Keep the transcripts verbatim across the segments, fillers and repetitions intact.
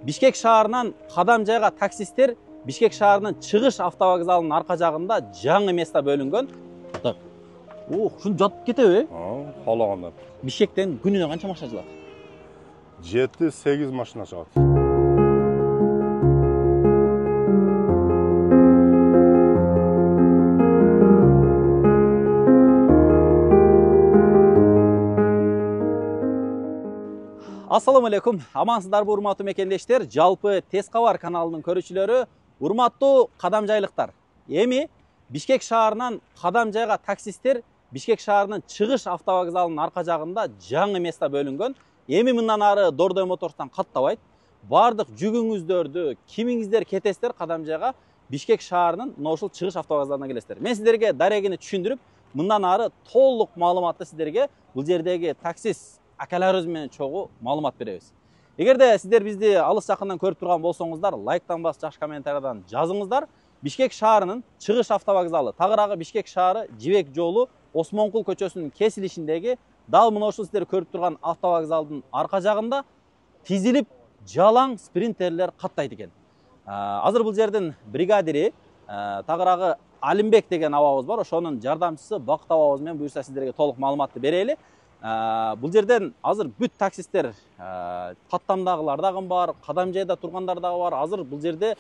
Бишкек шаарынан Кадамжайга таксисттер Бишкек шаарынын чыгыш автовокзалынын арка жагында жаңы место бөлүнгөн. Так. Ох, ушуну жатып кетеби? А, каалаганда. Бишкектен күнүнө канча машина чыгат? жети сегиз машина чыгат. Ассаламу алейкум. Амансыздарбы урматтуу мекендештер? Жалпы Тез кабар каналынын көрүүчүлөрү, урматтуу кадамжайлыктар. Эми Бишкек шаарынан Кадамжайга таксисттер Бишкек шаарынын чыгыш автовокзалынын арка жагында жаңы место бөлүнгөн. Эми мындан ары Дордой Моторстан каттабайт. Бардык жүгүңүздөрдү, кимиңиздер кетесиздер Кадамжайга Бишкек шаарынын мына ушул чыгыш автовокзалына келесиздер. Мен сиздерге дарегини түшүндүрүп, мындан ары толук маалыматты сиздерге бул жердеги таксис акаларыбыз менен чогуу маалымат беребиз. Эгерде сиздер бизди алыс жакындан көрүп турган болсоңуздар, лайктан басып, жакшы комментариядан жазыңыздар. Бишкек шаарынын чыгыш автовокзалы, тагыраагы Бишкек шаары Жибек жолу Осмонкул көчөсүнүн кесилишиндеги дал мына ушул сиздер көрүп турган автовокзалдын арка жагында тизилип жалаң спринтерлер каттайт экен. Азыр бул жердин бригадири тагыраагы Алимбек деген абабыз бар. Ошонун жардамчысы Бакыт абабыз менен буюрса сиздерге толук маалыматты берели. Бул жерден азыр бүт таксисттер, Каттамдагылар дагы бар, Кадамжайда тургандар дагы бар. Азыр бул жерде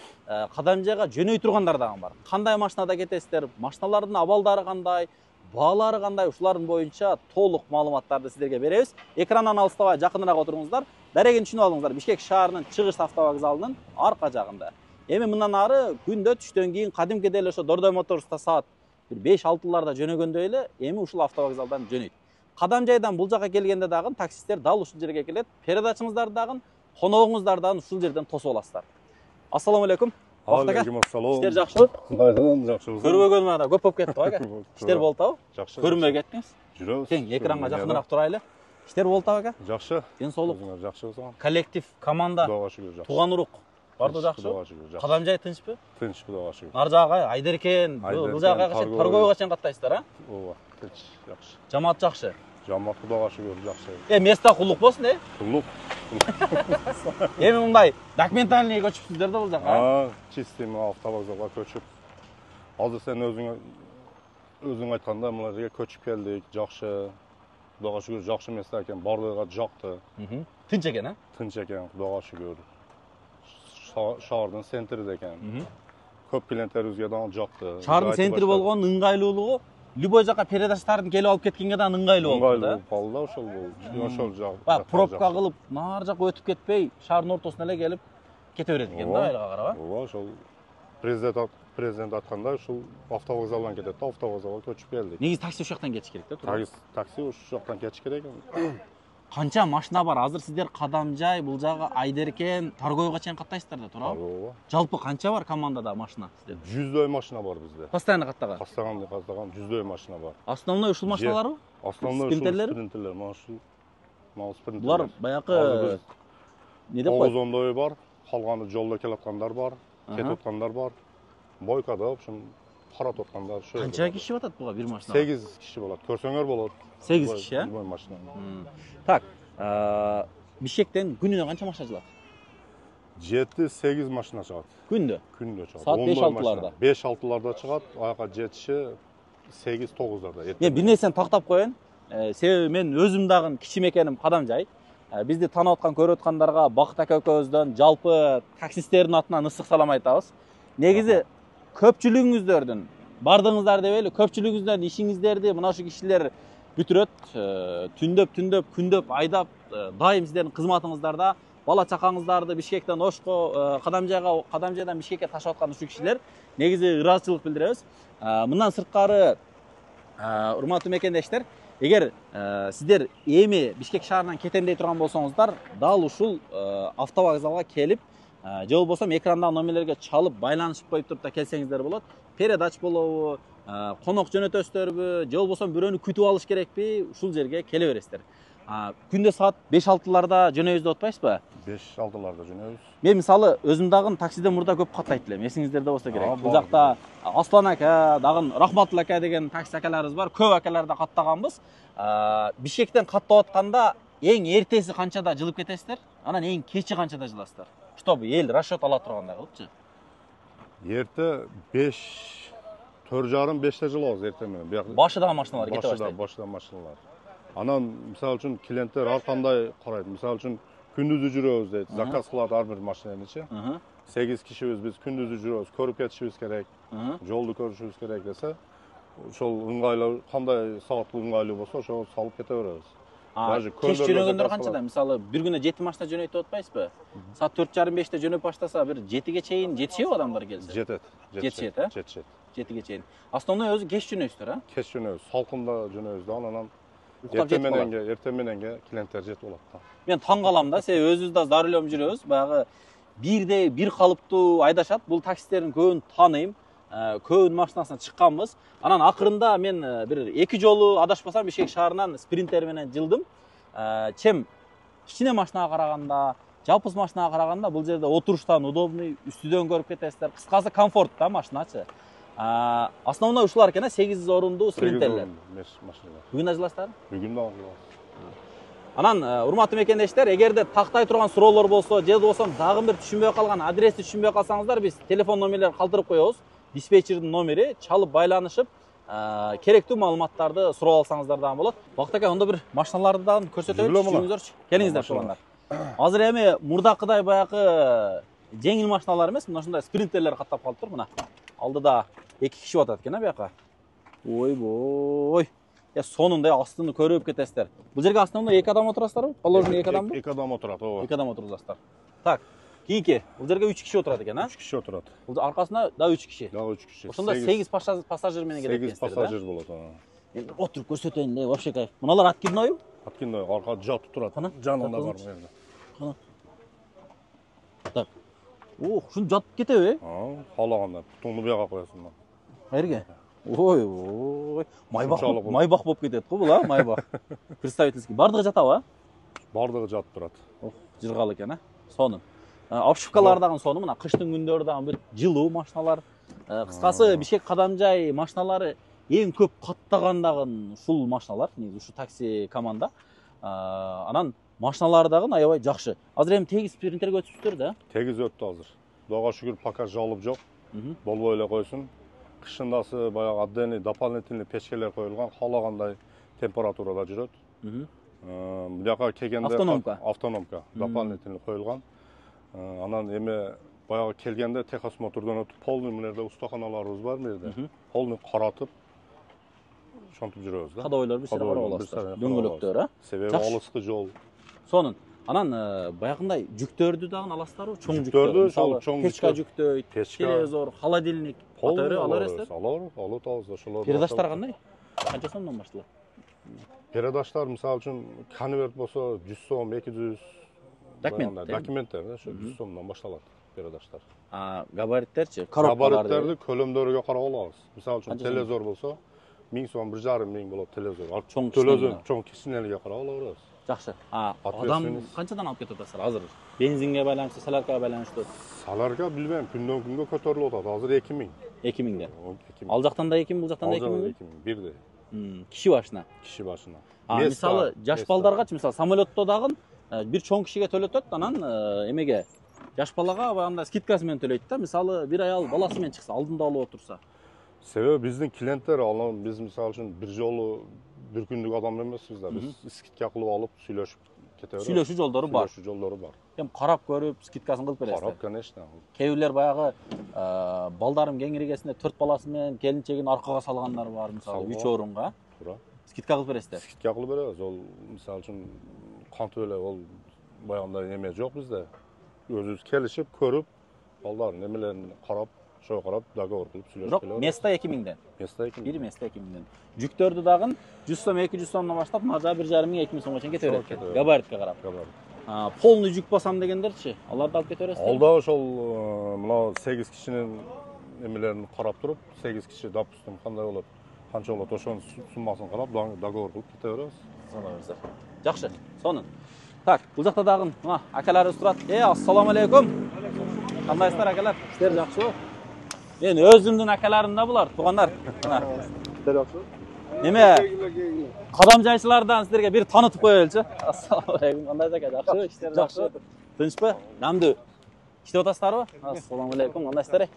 Кадамжайга жөнөй тургандар дагы бар. Кандай машинада кетесиздер, машиналардын абалдары кандай, баалары кандай, ушулардын боюнча толук маалыматтарды сиздерге беребиз. Экрандан алыстабай жакыныраак отуруңуздар. Дарегин түшүнүп алыңыздар. Бишкек шаарынын чыгыш автовокзалынын арка жагында. Эми мындан ары күндө түштөн кийин кадимкидей эле ошо Дордой Моторста саат беш алтыларда жөнөгөндөй эле эми ушул автовокзалдан жөнөйт. Кадамжайдан бул жака келгенде дагы таксисттер дал ушул жерге келет. Передачаңыздар дагы, коногуңуздар дагы ушул жерден тосуп аласыздар. Ассаламу алейкум. Алейкум ассалам. Иштер жакшыбы? Кайдан жакшыбыз? Көрбөгөн мана көп болуп кетти ака. Иштер болуп атабы? Жакшы. Көрүнбөй кеттиңиз? Жүрөбүз. Тең экранга жакыныраак турайлы. Иштер болуп атабы ака? Жакшы. Ден соолук. Жакшыбыз. Коллектив, команда, Кудайга шүгүр жакшы. тууган урук бардыгы жакшыбы? Кадамжай тынчпы? Тынч, Кудайга шүгүр. Нар жагы Айдеркен, бул жагы Торгойго чейин каттайсыздар, а? Ооба, тынч, жакшы. Жамаат жакшы. Жамаат Кудайга шүгүр жакшы. Э, место кулук болсун, э? Кулук. Эми мындай документальный көчүпсүздөр да бул жака. А, чистый автовокзалга көчүп. Азыр сен өзүң өзүң айтканда мына жерге көчүп келдик, жакшы. Кудайга шүгүр жакшы место экен, бардыгыга жакты. Тынч экен, а? Тынч экен, Кудайга шүгүр. Шаардын центринде экен. Көп клиенттерибизге дагы жакты. Шаардын центри болгон ыңгайлуулугу любой жака передачтардын келип алып кеткенге да ыңгайлуу болду да. Ыңгайлуу болду да ошол бул. Ошол жак. Бак пробка кылып, нар жака өтүп кетпей, шаардын ортосуна эле келип кете берет экен да, айылга карап. Ооба, ошол президент президент айткандай ушул автовокзалдан кетет да, автовокзалга көчүп келдик. Негизи такси ушул жактан кетиш керек да, туура. Такси ушул жактан кетиш керек. Канча машина бар? Азыр сиздер Кадамжай, бул жагы Айдеркен, Торгойго чейин каттайсыздар да, туурабы? Ооба. Жалпы канча бар командада машина сиздер? жүздөй машина бар бизде. Постоянно каттаган. Каттаган, каттаган жүздөй машина бар. Основной ушул машиналарбы? Основной ушул спринтерлер, мына ушул. Мына спринтерлер. Булар баягы не деп коет? тогуз ондой бар, калганы жолдо келаткандар бар, кетип аткандар бар. Бойкада, в общем, карап аткандар ошо. Канча киши батат буга бир машина? сегиз киши болот. Көрсөңөр болот. сегиз киши, а? Любой машина. Так, Бишкектен күнүнө канча машина чыгат? жети сегиз машина чыгат. Күндө? Күндө чыгат. Саат беш алтыларда. беш алтыларда чыгат, аяка жетиши сегиз тогуздарда. Мен бир нерсени тактап коеюн. Себеби мен өзүм дагы кичи мекеним Кадамжай. Бизди таанып аткан, көрүп аткандарга Бакыт ака экөөбүздөн, жалпы таксисттердин атынан ысык салам айтабыз. Негизи көпчүлүгүңүздөрдүн, бардыгыңыздар деп эле, көпчүлүгүңүздөрдүн ишиңиздерди мына ушул кишилер бүтүрөт. Түндөп, түндөп, күндөп айдап, дайым сиздердин кызматыңыздарда бала чакаңыздарды Бишкектен Ошко, Кадамжайга, Кадамжайдан Бишкекке ташып аткан ушул кишилер негизи ыраазычылык билдиребиз. Мындан сырткары, урматтуу мекендештер, эгер сиздер эми Бишкек шаарынан кетем дей турган болсоңуздар, дал ушул автовокзалга келип, же болбосо экрандагы номерлерге чалып байланышып коюп туруп да келсеңиздер болот. Передач болобу, конок жөнөтөсүздөрбү, же болбосо бирөөнү күтүп алыш керекпи, ушул жерге келе бересиздер. Күндө саат беш алтыларда жөнөйбүз деп атпайсызбы? беш алтыларда жөнөйбүз. Мен мисалы өзүм дагы таксиден мурда көп каттайт элем. Эсиңиздерде болсо керек. Бул жакта Аслан ака, дагы Рахматулла ака деген такси акаларыбыз бар. Көп акаларда каттаганбыз. Бишкектен каттап атканда эң эртеси канчада жылып кетесиздер? Анан эң кечи канчада жыласыздар? Чтобы эл расчет ала тургандай кылыпчы. Эрте беш төрт жарым беште жылабыз эрте менен. Башыдагы машиналар кете баштайт. Башыда машиналар. Анан мисалы үчүн клиенттер ар кандай карайт. Мисалы үчүн күндүзү жүрөбүз дейт. Заказ кылат ар бир машинанычы. сегиз кишибиз биз күндүзү жүрөбүз, көрүп кетишибиз керек. Жолду көрүшүбүз керек десе, ошол ыңгайлуу кандай саат ыңгайлуу болсо, ошого салып кете беребиз. Даже кеш жөнөгөндөр канчада? Мисалы, бир күнү жети машина жөнөйтүп атпайсызбы? Саат төрт жарым беште жөнөп баштаса, бир жетиге чейин жетишеби адамдар келсе? Жетет. Жетишет, э? Жетишет. жетиге чейин. Основной өзү кеш жөнөйсүздөр, а? Кеш жөнөбүз, салкында жөнөбүз да, анан эртең мененге, эртең мененге клиенттер жетип алат да. Мен таң калам да, себеби өзүбүз да за рулем жүрөбүз, баягы бирдей бир калыптуу айдашат. Бул таксистердин көбүн тааныйм. Көбүн машинасына чыкканбыз. Анан акырында мен бир эки жолу адашпасам Бишкек шаарынан спринтер менен жылдым. Чем кичине машинага караганда, жалпыз машинага караганда бул жерде отуруштан удобный, үстүдөн көрүп кетесиздер. Кыскасы комфорт да машиначы. Основной ушулар экен, сегиз орундуу спринтерлер. Бүгүн ажыласыздар? Бүгүн да ажылабыз. Анан урматтуу мекендештер, эгерде тактай турган суроолор болсо, же болбосо дагы бир түшүнбөй калган адрести түшүнбөй калсаңыздар, биз телефон номерлерин калтырып коебуз. Диспетчердин номери, чалып байланышып, керектүү маалыматтарды сурап алсаңыздар дагы болот. Бакыт ака, онда бир машиналарды дагы көрсөтөбүз, түшүнүңүздөрчү. Келиңиздер туугандар. Азыр эми мурдакыдай баягы жеңил машиналар эмес, мына ушундай спринтерлер каттап калыптыр. Мына алдыда эки киши атат экен, а бияка. Ойбой. Я сонунда астыны көрүп кетесиздер. Бул жерге основной эки адам отурасыздарбы? Положение эки адамбы? эки адам отурат, ооба. эки адам отурасыздар. Так, кийинки, бул жерге үч киши отурат экен, а? үч киши отурат. Бул аркасында да үч киши. Да үч киши. Ошондо сегиз пассажир менен келет экенсиздер, да? сегиз пассажир болот, ага. Эми отуруп көрсөтөйүн де, вообще кайф. Мыналар откиднойбу? Откидной, аркада жатып турат. Жанында бар жерде. Кана. Так. Ох, ушун жатып кетеби? Аа, каалаганда бутуңду буяга коесуң. Кайерге? Ой, ой. Майбак, майбак болуп кетет го бул, а, майбак. Представительский. Бардыгы жатабы, а? Бардыгы жатып турат. Ох, жыргал экен, а? Сонун. Обшивкалар дагы сонун, мына кыштын күндөрү дагы бир жылуу машиналар. Кыскасы, Бишкек кадамжай машиналары эң көп каттагандагы ушул машиналар, ушу такси команда. Анан машиналары дагы аябай жакшы. Азыр эми тегиз спринтерге өтүпсүздөр да? Тегиз өттү азыр. Кудайга шүгүр, пока жалып жок. Болбой эле койсун. Кышындасы баягы отдельный дополнительный печкелер коюлган, каалагандай температурада жүрөт. Буяка келгенде автономка. Автономка, дополнительный коюлган. Анан эми баягы келгенде техосмотрдон өтүп, полный мынерде устаханаларыбыз бар жерде. Полный каратып ошентип жүрөбүз да. Кадойлор бир сыйра карап аласыздар. Дөңгөлөктөр, а? Себеби алыскы жол. Сонун. Анан баягындай жүктөрдү дагы аласыздарбы? Чоң жүктөрдү, чоң печка жүктөйт, телевизор, холодильник, катары ала бересиздер? Алар, алып атабыз ошолор. Передаштар кандай? Канча сомдон башталат? Передаштар мисалы үчүн конверт болсо жүз сом, эки жүз. Документтер. Документтер, ошо жүз сомдон башталат передаштар. А габариттерчи? Коробкаларды? Габариттерди көлөмдөрүгө карап алабыз. Мисалы үчүн телевизор болсо миң сом, бир жарым миң болот телевизор. Чоң телевизор, чоң кичинелиге карап ала беребиз. Жакшы. А адам канчадан алып кетип атасыздар азыр? Бензинге байланыштуу, соляркага байланыштуу? Солярка билбейм, күндөн күнгө көтөрүлүп атат. Азыр эки миң. эки миңден. Ал жактан да эки миң, бул жактан да эки миң. эки миң, бирдей. Киши башына. Киши башына. А мисалы жаш балдаргачы, мисалы самолетто дагы бир чоң кишиге төлөтөт, анан эмеге жаш балага баягындай скидкасы менен төлөйт да. Мисалы бир аял баласы менен чыкса, алдында алып отурса. Себеби биздин клиенттер, анан биз мисалы үчүн бир жолу бир күндүк адам эмеспиз да. Биз скидка кылып алып сүйлөшүп кете беребиз. Сүйлөшүү жолдору бар. Сүйлөшүү жолдору бар. Эми карап көрүп скидкасын кылып бересиз. Карап, конечно. Кээ бирлер баягы балдарым кеңиргесинде төрт баласы менен келинчегин аркага салгандар бар, мисалы үч орунга. Туура. Скидка кылып бересиздер. Скидка кылып беребиз. Ол мисалы үчүн кантип эле ол баягындай эме жок бизде. Өзүбүз келишип, көрүп, балдардын эмелерин карап, ошого карап договор кылып сүйлөшүп келебиз. Место эки миңден. Место эки миң. Бир место эки миңден. Жүктөрдү дагы жүз сом, эки жүз сомдон баштап, мажа бир жарым миң, эки миң сомго чейин кете берет экен. Габаритке карап. Габарит. Полный жүк басам дегендерчи, аларды алып кете бересиздер? Ал да ошол мына сегиз кишинин эмелерин карап туруп, сегиз киши, допустим, кандай болот, канча болот, ошонун суммасын карап, договор кылып кете беребиз. Салабыздар. Жакшы, сонун. Так, бул жакта дагы мына акаларыбыз турат. Э, ассаламу алейкум. Кандайсыздар акалар? Иштер жакшыбы? Мен өзүмдүн акаларым да булар, туугандар. Мына. Иштер жакшыбы? Неме? Кадамжайчылардан сиздерге бир таанытып коелучу. Ассаламу алейкум. Кандайсыз ака? Жакшыбы? Иштер жакшыбы? Тынчпы? Намдуу. иштеп атасыздарбы? Ассаламу алейкум, кандайсыздар?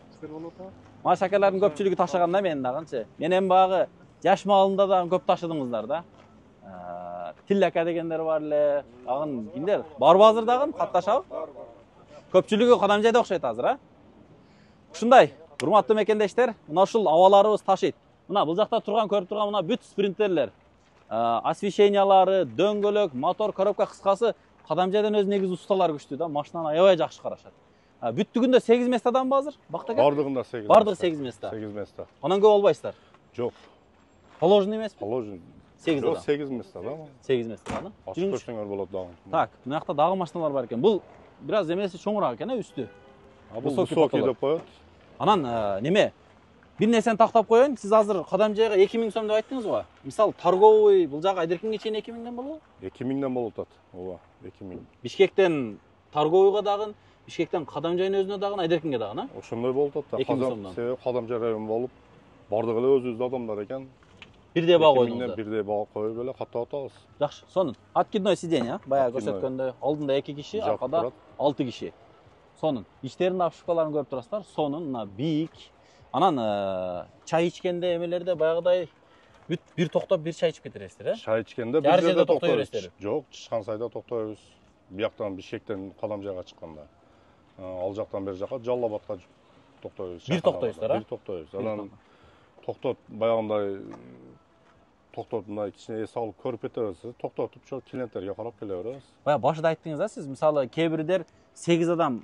Маш акалардын көпчүлүгү ташыган да мен дагынчы. Мен эми багы жаш маалында да көп ташыдыңыздар да. Тил ака дегендер бар эле. Дагы кимдер? Барбы азыр дагы катташабы? Көпчүлүгү Кадамжайда окшойт азыр, а? Ушундай, урматтуу мекендештер, мына ушул абаларыбыз ташыйт. Мына бул жакта турган, көрүп турган мына бүт спринтерлер, освещениялары, дөңгөлөк, мотор, коробка, кыскасы Кадамжайдан өз негизи усталар күчтүү да, машинаны аябай жакшы карашат. Бүттүгүндө сегиз местаданбы азыр? Бактака? Бардыгында сегиз. Бардыгы сегиз места. сегиз места. Анан көп албайсыздар? Жок. Положенный эмеспи? Положенный. сегиз адам. сегиз места да. сегиз места да. Ачып көрсөңөр болот дагы. Так, мына жакта дагы машиналар бар экен. Бул бир аз эмеси чоңураак экен, үстү. Бул высокий деп коет. Анан неме? Бир нерсени тактап коеюн. Сиз азыр Кадамжайга эки миң сом деп айттыңыз го. Мисалы, торговый бул жагы Айдеркинге чейин эки миңден болобу? эки миңден болуп атат. Ооба, эки миң. Бишкектен торговыйга дагы, Бишкектен Кадамжайдын өзүнө дагы, Айдеркинге дагы, а? Ошондой болуп атат да. эки миң сомдон. Себеби Кадамжай району болуп, бардыгы эле өзүбүздүн адамдар экен. Бирдей баа койдуңуздар. Бирдей баа коюп эле каттап атабыз. Жакшы, сонун. Откидной сиденье, баягы көрсөткөндөй, алдында эки киши, аркада алты киши. Сонун. Ичтеринин обшивкаларын көрүп турасыздар. Сонун, мына бийик. Анан чай ичкенде эмелерде баягыдай бүт бир токтоп бир чай ичип кетерсиздер, э? Чай ичкенде бир жерде токтой бересиздер. Жок, чыккан сайда токтойбуз. Бияктан Бишкектен Кадамжайга чыкканда. Ал жактан бери жака Жалал Абадка токтойбуз. Бир токтойсуздар, а? Бир токтойбуз. Анан токтоп баягындай токтоп мындай кичине эс алып көрүп кетебиз. Токтотуп чо клиенттерге карап келе беребиз. Баягы башында айттыңыз да сиз, мисалы, кээ бирлер сегиз адам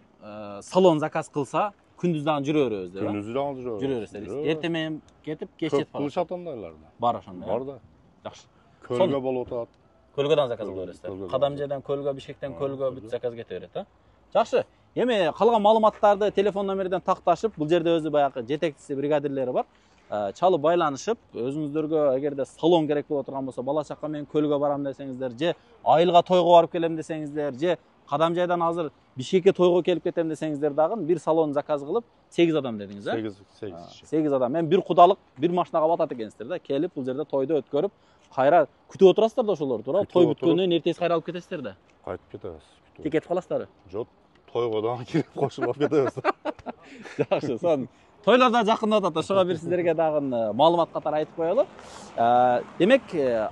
салон заказ кылса, күндүз дагы жүрө беребиз деп. Күндүз дагы жүрө беребиз. Жүрө бересиздер. Эртең менен кетип, кеч жетип калат. Кылышат андайларды. Бар ошондой. Бар да. Жакшы. Көлгө болуп атат. Көлгөдөн заказ кыла бересиздер. Кадамжайдан Көлгө, Бишкектен Көлгө бүт заказ кете берет, а? Жакшы. Эми калган маалыматтарды телефон номерден такташып, бул жерде өзү баягы жетекчиси, бригадирлери бар. Чалып байланышып, өзүңүздөргө эгерде салон керек боло турган болсо, бала чака менен Көлгө барам десеңиздер, же айылга тойго барып келем десеңиздер, же Кадамжайдан азыр Бишкекке тойго келип кетем десеңиздер дагы бир салон заказ кылып, сегиз адам дедиңиз, э? сегиз, сегиз. сегиз адам. Мен бир кудалык бир машинага батат экенсиздер да. Келип, бул жерде тойду өткөрүп, кайра күтүп отурасыздар да ошолорду, туура? Той бүткөндөн кийин эртеси кайра алып кетесиздер да. Кайтып кетебиз. Тек кетип каласыздарбы? Жок, тойго дагы кирип кошуп алып кетебиз. Жакшы, сон. Тойлар да жакындап атат. Ошого бир сиздерге дагы маалымат катары айтып коелу. Демек,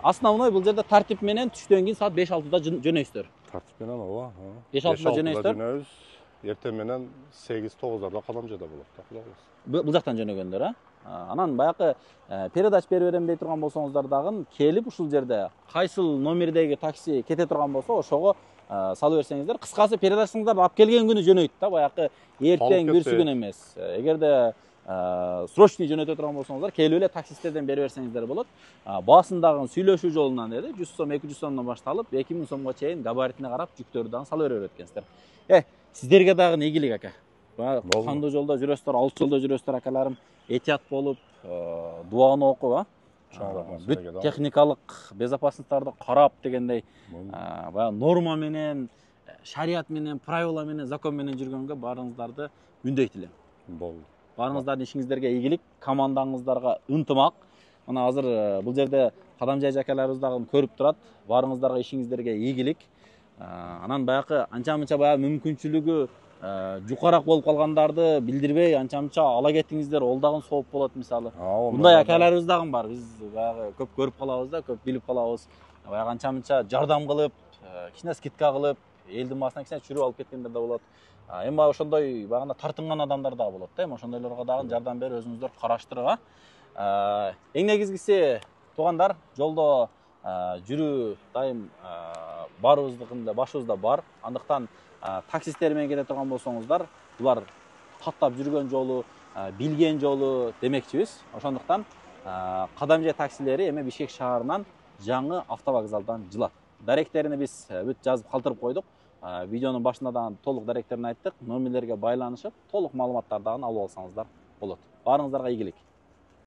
основной бул жерде тартип менен түштөн кийин саат беш алтыда жөнөйсүздөр. Тартип менен ооба. беш алтыда жөнөйсүздөр. Эртең менен сегиз тогуздарда Кадамжайда болот да, Кудай кылса. Бул жактан жөнөгөндөр, а? Анан баягы передач берип берем дей турган болсоңуздар дагы келип ушул жерде кайсыл номердеги такси кете турган болсо, ошого салып берсеңиздер. Кыскасы, передачыңыздарды алып келген күнү жөнөйт да, баягы эртең бүрсү күн эмес. Эгерде срочный жөнөтө турган болсоңуздар, келип эле таксисттерден берип берсеңиздер болот. Баасындагы сүйлөшүү жолунан деди, жүз сом, эки жүз сомдон башталып, эки миң сомго чейин габаритине карап жүктөрдү дагы салып бере берет экенсиздер. Э, сиздерге дагы ийгилик, ака. Кандуу жолдо жүрөсүздөр, алыс жолдо жүрөсүздөр, акаларым. Этият болуп, дуаны окуп, а? Бүт техникалык безопасностьтарды карап дегендей, баягы норма менен, шарият менен, правила менен, закон менен жүргөнгө баарыңыздарды үндөйт элем. Болду. Баарыңыздардын ишиңиздерге ийгилик, командаңыздарга ынтымак. Мына азыр бул жерде Кадамжай жакаларыбыз дагы көрүп турат. Баарыңыздарга ишиңиздерге ийгилик. Анан баягы анча-мынча баягы мүмкүнчүлүгү жукараак болуп калгандарды билдирбей, анча-мынча ала кетиңиздер, ол дагы сооп болот мисалы. Мындай акаларыбыз дагы бар. Биз баягы көп көрүп калабыз да, көп билип калабыз. Баягы анча-мынча жардам кылып, кичине скидка кылып, элдин баасына кичине чүрүп алып кеткендер да болот. Эми ошондой багында тартынган адамдар да болот да. Эми ошондойлорго дагы жардам берип, өзүңүздөр караштырып, а. Эң негизгиси, туугандар, жолдо жүрүү дайым баарыбыздыкында башыбызда бар. Андыктан таксисттер менен кете турган болсоңуздар, булар таттап жүргөн жолу, билген жолу демекчибиз. Ошондуктан Кадамжай таксилери эми Бишкек шаарынан жаңы автовокзалдан жылат. Даректерини биз бүт жазып калтырып койдук. Видеонун башында да толук даректерин айттык. Номерлерге байланышып, толук маалыматтарды алып алсаңыздар болот. Баарыңыздарга ийгилик.